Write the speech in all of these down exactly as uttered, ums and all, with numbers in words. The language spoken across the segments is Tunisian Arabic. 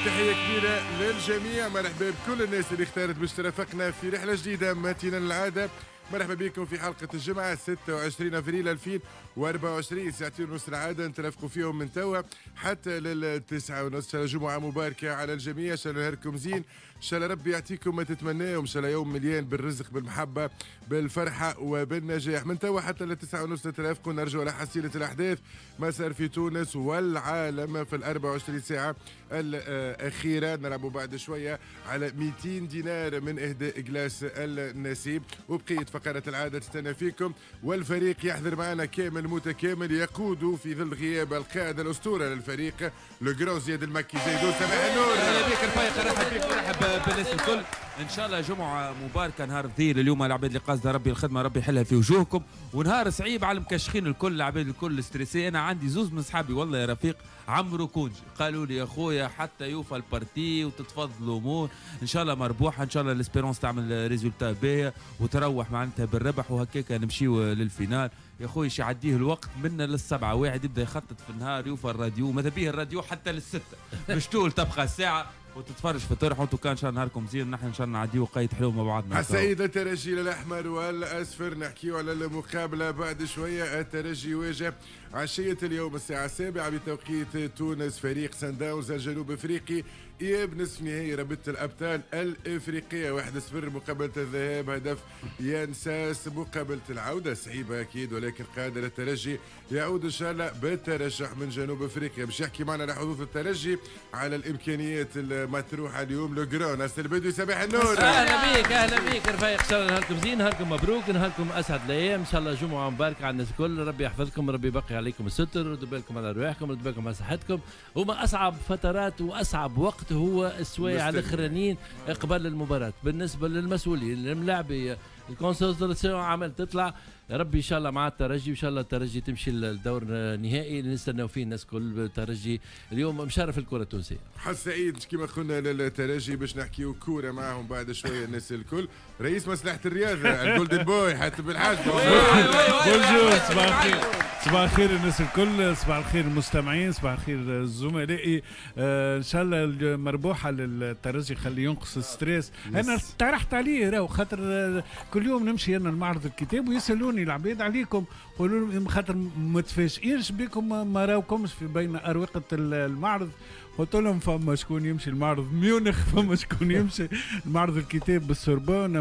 تحية كبيرة للجميع. مرحبا بكل الناس اللي اختارت باش ترافقنا في رحلة جديدة متينة للعادة. مرحبا بكم في حلقة الجمعة ستة وعشرين أفريل ألفين وأربعة وعشرين، ساعتين ونص العادة نترافقوا فيهم من توا حتى للتسعة ونص. جمعة مباركة على الجميع، إن شاء الله نهاركم زين، إن شاء الله ربي يعطيكم ما تتمناه، وإن شاء الله يوم مليان بالرزق بالمحبة بالفرحة وبالنجاح. من توا حتى للتسعة ونص نترافقوا، نرجعوا على حصيلة الأحداث ما صار في تونس والعالم في الأربعة وعشرين ساعة الأخيرة. نلعبوا بعد شوية على مئتين دينار من إهداء glace النسيب، وبقية فقرة العادة تستنى فيكم. والفريق يحضر معنا كامل متكامل، يقود في ظل غياب القائد الأسطورة للفريق le grand زياد المكي. زيدو صباح النور. اهلا بك رفيق، رحب بك ورحب بالناس الكل. ان شاء الله جمعه مباركة، نهار ذيل اليوم العباد اللي قاصده ربي الخدمة ربي يحلها في وجوهكم، ونهار صعيب على المكشخين الكل، العباد الكل stressés. انا عندي زوز من صحابي والله يا رفيق عمرو congé، قالوا لي يا خويا حتى يوفى ال partie وتتفضل الامور ان شاء الله مربوحه، ان شاء الله l'Espérance تعمل résultat باهيه وتروح معناتها بالربح، وهكاك نمشيو لل finale. يا خويا شي يعديه الوقت منا للسبعه، واحد يبدا يخطط في النهار يوفى الراديو، ماذا بيه الراديو حتى للسته باش طول تبقى الساعة وتتفرج في طرح. وانتو كان ان شاء الله نهاركم زين، نحن ان شاء الله نعديو قيد حلو مع بعضنا. السيد الترجي الاحمر والاصفر، نحكيو على المقابلة بعد شوية. الترجي يواجه عشية اليوم الساعة السابعة بتوقيت تونس فريق سان داونز الجنوب افريقي، اياب نصف نهائي رابطه الابطال الافريقية. واحد صفر مقابله الذهاب، هدف يان ساس. مقابله العودة صعيبة اكيد، ولكن قادر الترجي يعود ان شاء الله بالترشح من جنوب افريقيا. باش يحكي معنا على حظوظ الترجي، على الامكانيات المطروحة اليوم le grand ناصر البدوي. صباح النور. اهلا بك، اهلا بك رفيق، ان شاء الله نهاركم زين، نهاركم مبروك، نهاركم اسعد الايام، ان شاء الله جمعه مباركة على الناس الكل. ربي يحفظكم، ربي يبقي عليكم الستر، ردوا بالكم على رواحكم، ردوا بالكم على صحتكم. هما اصعب فترات واصعب وقت هو السوايع الاخرانيين قبل المباراة بالنسبة للمسؤولين الملاعبيه، ال concentration عمل تطلع. ربي ان شاء الله مع الترجي، وان شاء الله الترجي تمشي للدور النهائي اللي نستناو فيه الناس الكل. الترجي اليوم مشرف الكره التونسية. حظ سعيد كما قلنا للترجي باش نحكيو كورة معاهم بعد شوية الناس الكل. رئيس مصلحة الرياضة ال golden boy حاتم بالحاج. bonjour، صباح الخير، صباح الخير الناس الكل، صباح الخير المستمعين، صباح الخير زملائي. آه ان شاء الله المربوحه للترجي، خلي ينقص ال stress. انا اقترحت عليه راهو خاطر كل يوم نمشي انا لمعرض الكتاب ويسالوني العباد عليكم، قولوا لهم خاطر متفاجئينش بكم، ما راوكمش في بين اروقة المعرض. قلت لهم فما شكون يمشي المعرض ميونخ، فما شكون يمشي المعرض الكتاب بالسوربون،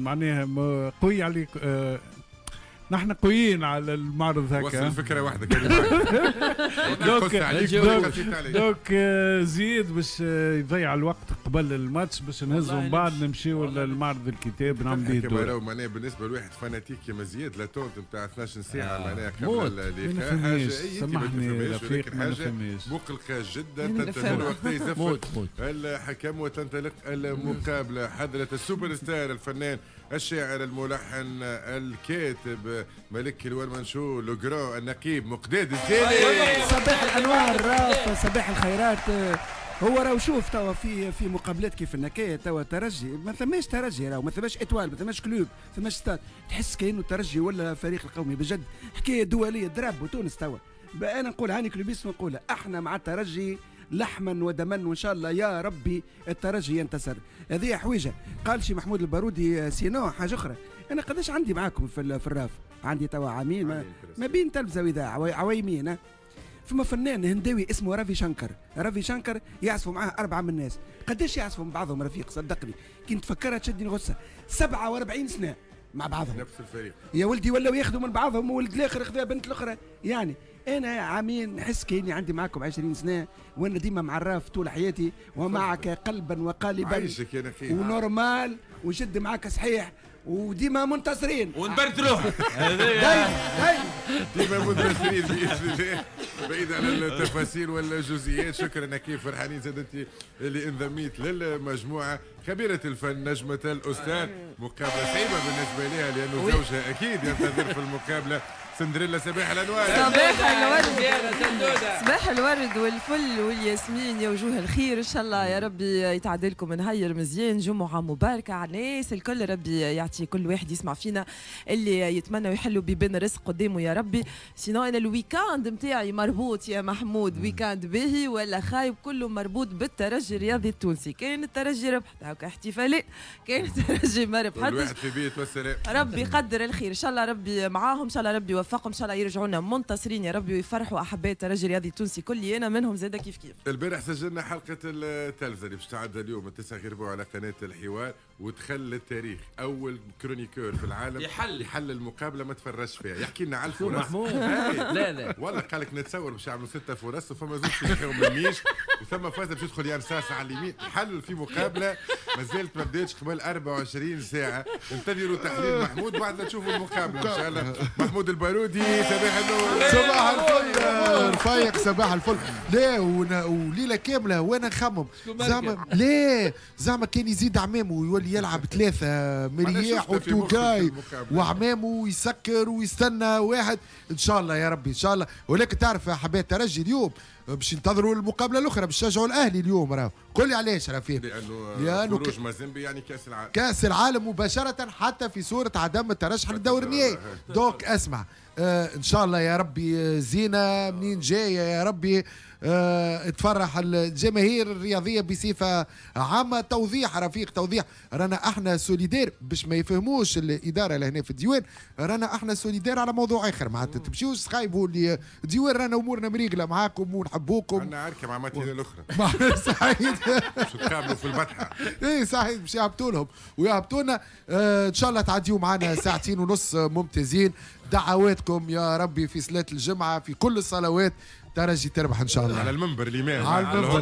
معناها قوي عليك. آه نحن قويين على المعرض هكا. وصل الفكرة واحدة. donc donc زيد باش يضيع الوقت قبل الماتش باش نهزوا من بعد نمشيو للمعرض الكتاب نعمل به الدور. معناها بالنسبة لواحد fanatique كيما زياد l'attente نتاع اثناش ساعة معناها قبل اللقاء حاجة سامحني رفيق ما نفهمش، مقلقة جدا. تنتظر وقت يزفر الحكم وتنطلق المقابلة. حضره السوبر ستار الفنان الشاعر الملحن الكاتب ملك ال one man show le grand النقيب مقداد الزيني. صباح الانوار راف، صباح الخيرات. هو راهو شوف توا في في مقابلات كيف النكاية توا ترجي ما ثماش ترجي، راهو ما ثماش Étoile، ما ثماش club، ما ثماش ستاد، تحس كانه الترجي ولا فريق القومي بجد. حكاية دولية drapeau تونس توا. انا نقول هاني clubiste ونقولها، احنا مع الترجي لحما ودما، وان شاء الله يا ربي الترجي ينتصر. هذه حويجه قال شي محمود البارودي. sinon حاجة اخرى، انا قداش عندي معاكم في في الراف؟ عندي توا عامين ما, ما بين تلفزه واذاعة عويمين. فما فنان هنداوي اسمه رافي شنكر، رافي شنكر يعزفوا معاه اربعة من الناس، قداش يعزفوا مع بعضهم رفيق؟ صدقني كي نتفكرها تشدني غصة. سبعة وأربعين سنة مع بعضهم نفس الفريق يا ولدي، ولاو ياخذوا من بعضهم، وولد الاخر خذا بنت الاخرى. يعني انا عامين نحس كاني عندي معاكم عشرين سنة، وانا ديما مع الراف طول حياتي ومعك قلبا وقالبا. عايشك يا نخيل و normal وجد معاك صحيح وديما منتصرين ونبردلوها. دايما ديما منتصرين باذن الله. بعيد عن التفاصيل والجزئيات، شكرا كيف فرحانين زاد انت اللي انضميت للمجموعة. خبيرة الفن نجمه الاستاذ، مقابله صعيبة بالنسبة لها لانه زوجها اكيد ينتظر في المقابلة. سندريلا صباح الانوار. صباح الورد، صباح الورد والفل والياسمين يا وجوه الخير، ان شاء الله يا ربي يتعدلكم نهير مزيان، جمعه مباركة على الناس الكل، ربي يعطي كل واحد يسمع فينا اللي يتمنى ويحلوا بيبان رزق قدامه يا ربي. sinon انا ال week-end نتاعي مربوط يا محمود، week-end باهي ولا خايب كله مربوط بالترجي الرياضي التونسي. كان الترجي ربحت هكا احتفالات، كان الترجي ما ربحتش الواحد في بيت والسلام. ربي يقدر الخير ان شاء الله، ربي معاهم ان شاء الله، ربي يوفقهم ان شاء الله، يرجعوا لنا منتصرين يا ربي ويفرحوا احباء الترجي الرياضي التونسي كلي انا منهم زاده كيف كيف. البارح سجلنا حلقة التلفزة اللي باش تعدى اليوم التسعة غير ربع على قناة الحوار، ودخل للتاريخ اول chroniqueur في العالم يحل يحل المقابلة ما تفرجش فيها، يحكي لنا على الفرص محمود. لا لا والله قال لك نتصور باش يعملوا ستة فرص وفما زوج ينحيهم من الميش وثم فاز باش يدخل يان ساس على اليمين. حل في مقابله ما زالت ما بداتش قبل أربعة وعشرين ساعة. انتظروا تحليل محمود بعد ما تشوفوا المقابلة ان شاء الله. محمود البارودي صباح النور. صباح الفل رفيق، صباح الفل. لا وليلة كاملة وانا نخمم زعما لا زعما كان يزيد عمامه ويولي يلعب ثلاثة مرياح وتوكاي وعمامه يسكر ويستنى واحد. ان شاء الله يا ربي ان شاء الله. ولكن تعرف يا حبايب الترجي اليوم باش ينتظروا المقابلة الاخرى، باش يشجعوا الاهلي اليوم. راهو قول لي علاش رفيق؟ لانه لانه خروج مازيمبي يعني كاس العالم، كاس العالم مباشرة حتى في صوره عدم الترشح للدور النهائي. donc اسمع آه ان شاء الله يا ربي زينة منين جاية يا ربي آه تفرح الجماهير الرياضية بصفة عامة. توضيح رفيق، توضيح، رانا احنا solidaires باش ما يفهموش الادارة لهنا في الديوان، رانا احنا solidaires على موضوع اخر، معناتها تمشيوش تخايبوا الديوان، رانا امورنا مريقله معاكم ونحبوكم. عندنا عركة مع ماتينا الاخرى صحيح باش تقابلوا في البطحه. اي صحيح باش يهبطوا لهم ويهبطونا. آه ان شاء الله تعديوا معنا ساعتين ونص ممتازين. دعواتكم يا ربي في صلاة الجمعة في كل الصلوات ترجي تربح ان شاء الله. على المنبر الامام، على المنبر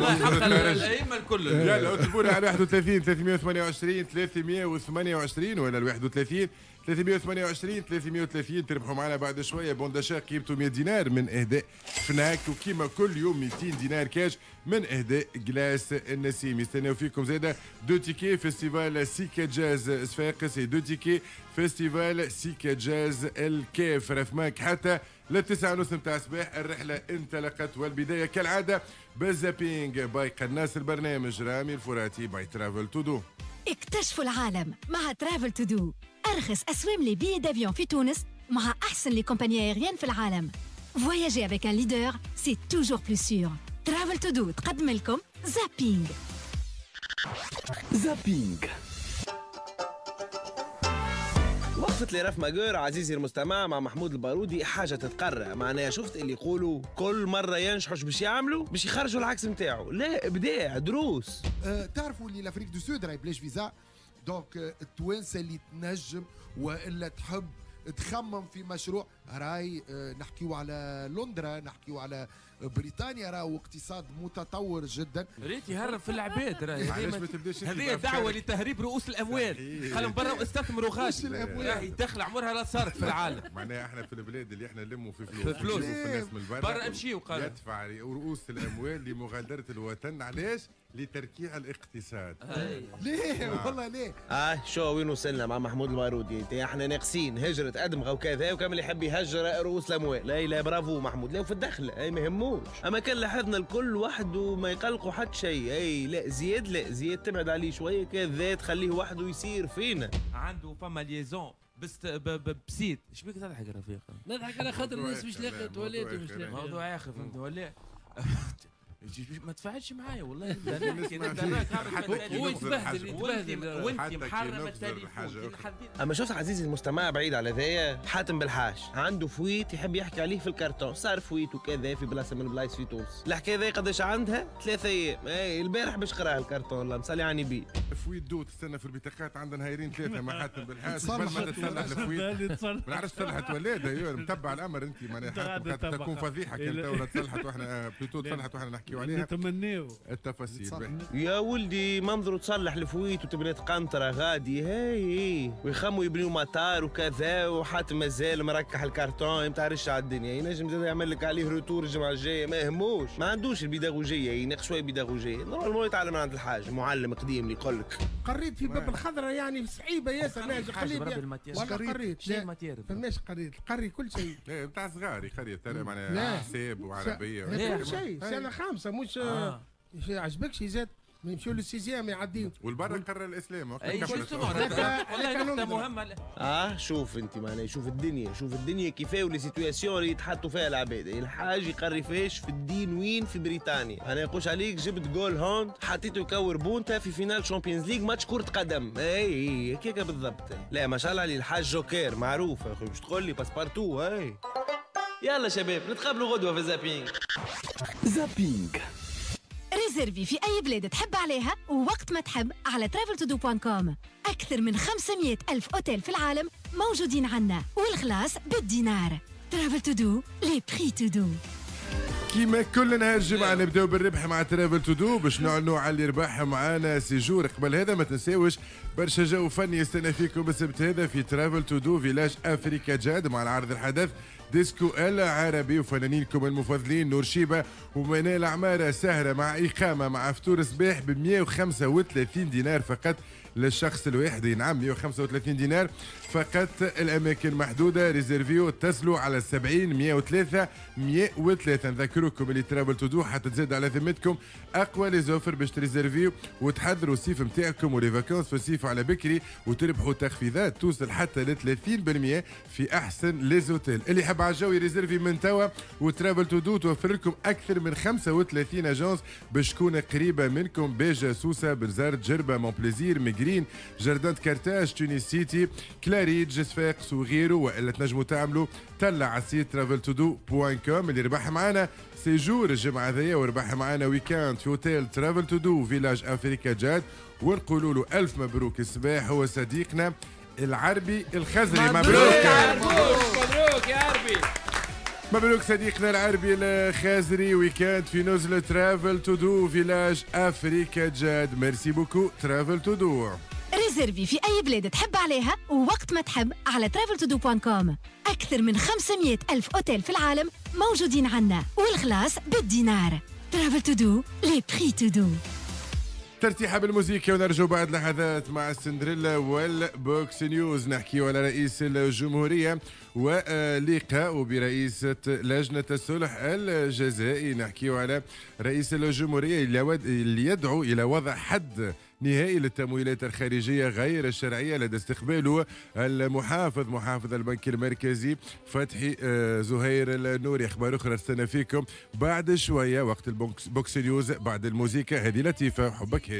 الائمة الكل. يلا اكتبوا لنا على واحد وثلاثين ثلاثمية وثمانية وعشرين ثلاثمية وثمانية وعشرين ولا واحد وثلاثين ثلاثمية وثمانية وعشرين ثلاثمية وثلاثين. تربحوا معنا بعد شوية bon d'achat قيمته مية دينار من اهداء فناك، وكيما كل يوم ميتين دينار كاش من اهداء glace النسيم. يستناو فيكم زاده deux tickets festival سيكا جاز صفاقس، deux tickets festival سيكا جاز الكاف. رفماك حتى للتسعة ونص نتاع الصباح الرحلة انطلقت، والبداية كالعادة بال zapping by قناص البرنامج رامي الفراتي by Travel To Do. اكتشفوا العالم مع Travel To Do، أرخص أسوام les billets d'avion في تونس مع أحسن les compagnies aériennes في العالم. Voyager avec un leader, c'est toujours plus sûr. Travel To Do تقدم لكم zapping. zapping وقفت لي راف ماجور عزيزي المستمع مع محمود البارودي حاجة تتقرى، معناها شفت اللي يقولوا كل مرة ينجحوش باش يعملوا باش يخرجوا العكس نتاعو، لا ابداع دروس. أه تعرفوا اللي l'Afrique du Sud راهي بلاش visa، donc التوانسة اللي تنجم والا تحب تخمم في مشروع راي، نحكيو على لندرا، نحكيو على بريطانيا، راهو اقتصاد متطور جدا. ريت يهرب في العباد راهي. هذه دعوه لتهريب رؤوس الاموال، خلهم برا واستثمروا غادي، راهي دخل عمرها لا صارت في العالم. معناها احنا في البلاد اللي احنا نلموا في فلوس، في فلوس في الناس من برا برا امشيو قالوا يدفع رؤوس الاموال لمغادره الوطن. علاش؟ لتركيع الاقتصاد. ليه والله ليه؟ اه شو وين وصلنا مع محمود البارودي؟ احنا ناقصين هجرة ادمغه وكذا، وكامل يحب يهجر رؤوس الاموال. لا لا برافو محمود، لا وفي الدخلة اي ما يهموش. اما كان لاحظنا الكل وحده ما يقلقوا حتى شيء. اي لا زياد، لا زياد تبعد عليه شوية كذا، تخليه وحده يسير فينا. عنده فما liaison بس بسيط. ايش بيك تضحك رفيق؟ نضحك على خاطر الناس مش لاقيه تواليت ومش لاقيه موضوع اخر فهمت ولا؟ ما تفاعلش معايا والله. هو يتبهدل يتبهدل وانت محرم التليفون. اما شفت عزيزي المستمع بعيد على ذايا حاتم بالحاج عنده fuite يحب يحكي عليه في الكرتون، صار fuite وكذا في بلاصة من البلايص في تونس. الحكاية ذي قداش عندها؟ ثلاثة ايام. اي البارح باش قراها الكرتون الله مصلي على النبي. fuite d'eau تستنى في البطاقات عندنا نهارين ثلاثة مع حاتم بالحاج قبل ما تصلح ال fuite. ما نعرفش تصلحت ولا لا، متبع الامر انت معناها تكون فضيحة كان تو تصلحت واحنا plutôt تصلحت واحنا نحكي. نحكيو عليها نتمناو التفاصيل. يا ولدي منظروا تصلح ال fuite وتبنات قنطرة غادي هاي ويخموا يبنيو مطار وكذا، وحاتم مازال مركح الكارتون ما تعرفش على الدنيا، ينجم زاد يعمل لك عليه retour الجمعة الجاية، ما يهموش، ما عندوش البيداغوجيه، يناقش شوية بيداغوجيه، normalement يتعلم عند الحاج معلم قديم اللي يقول لك قريت في باب الخضراء يعني صعيبة ياسر ناجح قليل والله قريت شنو matière فماش قريت قري كل شيء نتاع صغار يقري ترى معناها حساب وعربية كل شيء سنة خامسة مش آه. عجبكش زاد يمشيو لل sixième يعديو والبرا قرر الاسلام وقت والله نقطة مهمة. اه شوف انت معناها شوف الدنيا، شوف الدنيا كيفاه و les situations اللي يتحطوا فيها العباد، الحاج يقري فيش في الدين وين في بريطانيا، انا يقولش عليك جبت جول هوند حطيته يكور بونتا في finale Champions League match كرة قدم، اي هكاك بالضبط. لا ما شاء الله عليه الحاج جوكير معروف يا اخوي، باش تقول لي passe-partout. اي يلا شباب نتقابلوا غدوه في zapping. zapping réserver في أي بلاد تحب عليها ووقت ما تحب على travel to do point com. أكثر من خمسمية ألف أوتيل في العالم موجودين عنا والخلاص بالدينار. Travel to do، les prix to do. كيما كل نهار جمعة نبداو بالربح مع Travel to do باش نعلنوا على اللي ربح معانا séjour. قبل هذا ما تنساوش برشا جو فني يستنى فيكم السبت هذا في Travel to do Village Africa جاد مع العرض الحدث ديسكو العربي وفنانينكم المفضلين نور شيبة ومنال عمارة. سهرة مع إقامة مع فطور صباح ب مية وخمسة وثلاثين دينار فقط للشخص الواحد. نعم مية وخمسة وثلاثين دينار فقط، الأماكن محدودة. réserviو اتصلوا على سبعين مية وثلاثة مية وثلاثة. نذكركم اللي Travel to do حتى تزيد على ذمتكم أقوى les offres باش ت réserviو وتحضروا الصيف نتاعكم و les vacances في الصيف على بكري وتربحوا تخفيضات توصل حتى ل ثلاثين بالمية في أحسن les hôtels. اللي يحب على الجو ي réserver من توا و Travel to do توفر لكم أكثر من خمسة وثلاثين agences باش تكون قريبة منكم: باجة، سوسة، بنزرت، جربة، مونبليزير، ميغرين، Jardin de Carthage، Tunis City، كلاريد، صفاقس وغيره. والا تنجموا تعملوا طلع على ال site travel to do point com. اللي ربح معنا séjour الجمعة هذيا وربح معنا week-end في hôtel Travel to do Village Africa جاد، ونقولوا له الف مبروك. الصباح هو صديقنا العربي الخزري. مبروك مبروك يا عربي، مبروك صديقنا العربي الخازري، week-end في نزل Travel to do Village Africa جاد. merci beaucoup Travel to do. réserver في أي بلاد تحب عليها ووقت ما تحب على travel to do point com. أكثر من خمسمية ألف أوتيل في العالم موجودين عنا والخلاص بالدينار. Travel to do، les prix to do. ترتيحة بالموسيقى ونرجو بعد لحظات مع السندريلا وال box news. نحكي على رئيس الجمهورية ولقاء برئيسة لجنة الصلح الجزائي. نحكي على رئيس الجمهورية اللي يدعو إلى وضع حد نهائي للتمويلات الخارجية غير الشرعية لدى استقباله المحافظ محافظ البنك المركزي فتحي زهير النوري. أخبار أخرى استنى فيكم بعد شوية وقت ال box news بعد الموسيقى هذه لطيفة حبك هادي.